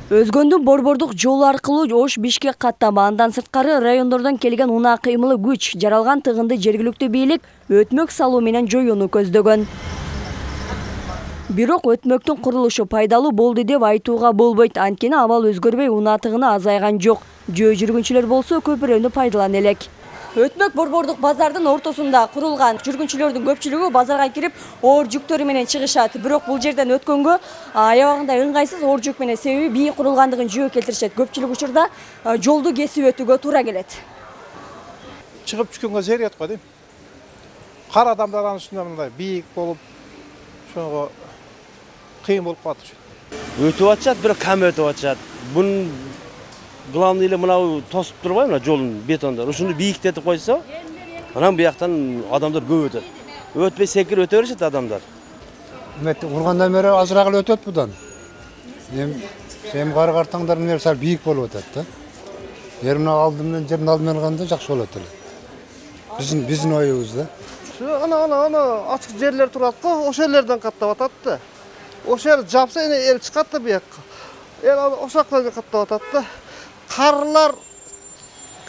Өзгөндүн борбордук жолу аркылуу Ош-Бишкек каттама, андан сырткары райондордон келген унаа кыймылы күч жаралган тыгынды жергиликтүү бийлик өтмөк салуу менен жоюуну көздөгөн. Бирок өтмөктүн курулушу пайдалуу болду деп айтууга болбойт. Анткени абал өзгөрбөй унаа тыгыны азайган жок. Жөө жүргүнчүлөр болсо көпүрөнү пайдалана элек. Өтмөк борбордук базардын ортосунда курулган. Жүргүнчүлөрдүн көпчүлүгү базарга кирип оор жүктөрү менен чыгышат. Бирок бул жерден өткөнгө аябагында ыңгайсыз оор жүк менен, себеби бийик курулгандыгын жөө келтиришет. Көпчүлүк учурда жолду кесип өтүүгө туура келет. Чыгып түшкөнгө зерет го дейм. Кар адамдар анын үстүнө мындай бийик болуп, ошого кыйын болуп калат. Өтүп атышат, бирок кам өтүп атышат. Бунун главный эле мынау тосуп турбайбы, мына жолун бетондор. Ушуну бийиктетип койсо, анан буяктан адамдар көп өтөт. Өтпөй секирип өтө беришет адамдар. Ургандан бери азыраак эле өтөт будан. Эми кары картаңдар менен сал бийик болуп атат да. Мына алды менен жердин алды менен алганда жакшы болот эле. Биздин оюбуз да. Ана ачык жерлер турат го, ошол жерлерден каттап атат да. Ошол жер жапса эл чыгат да буякка. Эл ошоктон каттап атат да. Карлар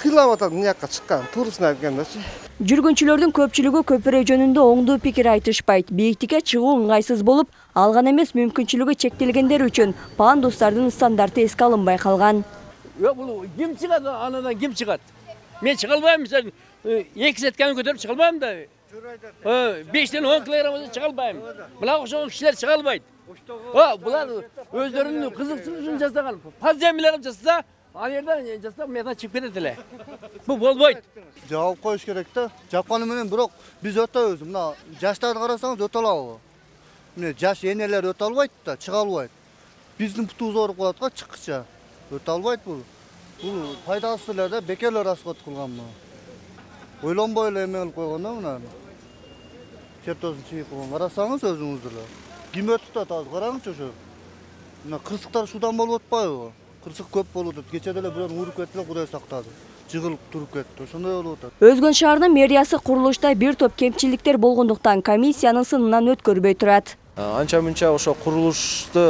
кыйлап атат мынакка чыккан, турусын айткандачы. Жүргүнчүлөрдүн көпчүлүгү көпүрө жөнүндө оңдуу пикир айтышпайт. Бийиктикке чыгуу ыңгайсыз болуп, алган эмес мүмкүнчүлүгү чектелгендер үчүн пандустардын стандарты эске алынбай калган. Бул ким чыгат, анадан ким чыгат? Мен чыга албайм, мисалы 2 сетканы көтөрүп чыга албайм да. 5-тен 10 килограмм чыга албайм. Буга окшогон кишилер чыга албайт. Булар өздөрүнүн кызыкчылыгы үчүн жасаган. Подземелье кылып жасаса, ал жерден жасап мына чыгып кетет эле. Бул болбойт. Жаап коюш керек да. Жапканы менен бирок биз өтөбүз. Мына жаштарды карасаңыз өтө алабы? Мына жаш энелер өтө албайт да, чыга албайт. Биздин путубуз ооруп калат го чыккыча. Өтө албайт бул. Бул пайдасыз эле да, бекер расход кылган бул. Ойлонбой эле эме кылып койгон да мына. Чертозун чыгып койгон. Карасаңыз өзүңүз деле. Ким өтүп атат, караңызчы ошо. Мына кырсыктар шудан болуп атпайбы? Кырсык көп болуп атат. Кече деле бирөө уруп кетти, Кудай сактады. Жыгылып туруп кетти. Ошондой болуп атат. Өзгөн шаарынын мэриясы курулушта бир топ кемчиликтер болгондуктан комиссиянын сынынан өткөрбөй турат. Анча-мынча ошо курулушту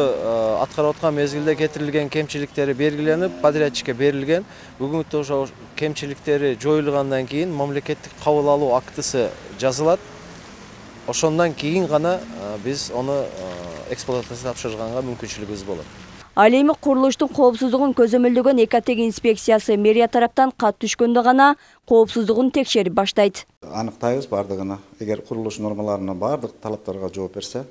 аткарып аткан мезгилде кетирилген кемчиликтери белгиленип, подрядчикке берилген. Бүгүнкү ошо кемчиликтери жоюлгандан кийин мамлекеттик кабыл алуу актысы жазылат. Ошондон кийин гана биз аны эксплуатацияга тапшырганга мүмкүнчүлүгүбүз болот. Ал эми курулуштун коопсуздугун көзөмөлдөгөн экотек инспекциясы мэрия тараптан кат түшкөндө гана коопсуздугун текшерип баштайт. Аныктайбыз бардыгына. Эгер курулуш нормаларына бардык талаптарга жооп берсе,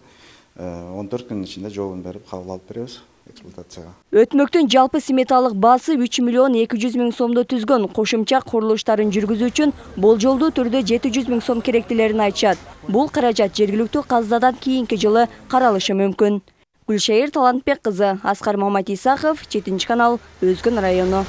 14 күн ичинде жообун берип кабыл алып беребиз эксплуатацияга. Өтмөктүн жалпы сметалык баасы 3 миллион 200 миң сомдо түзгөн. Кошумча курулуштарын жүргүзүү үчүн болжолдуу түрдө 700 миң сом керектилерин айтышат. Бул каражат жергиликтүү казынадан кийинки жылы каралышы мүмкүн. Гүлшайыр Талантбек кызы, Аскар Маматисахов, 7 канал, Өзгөн району.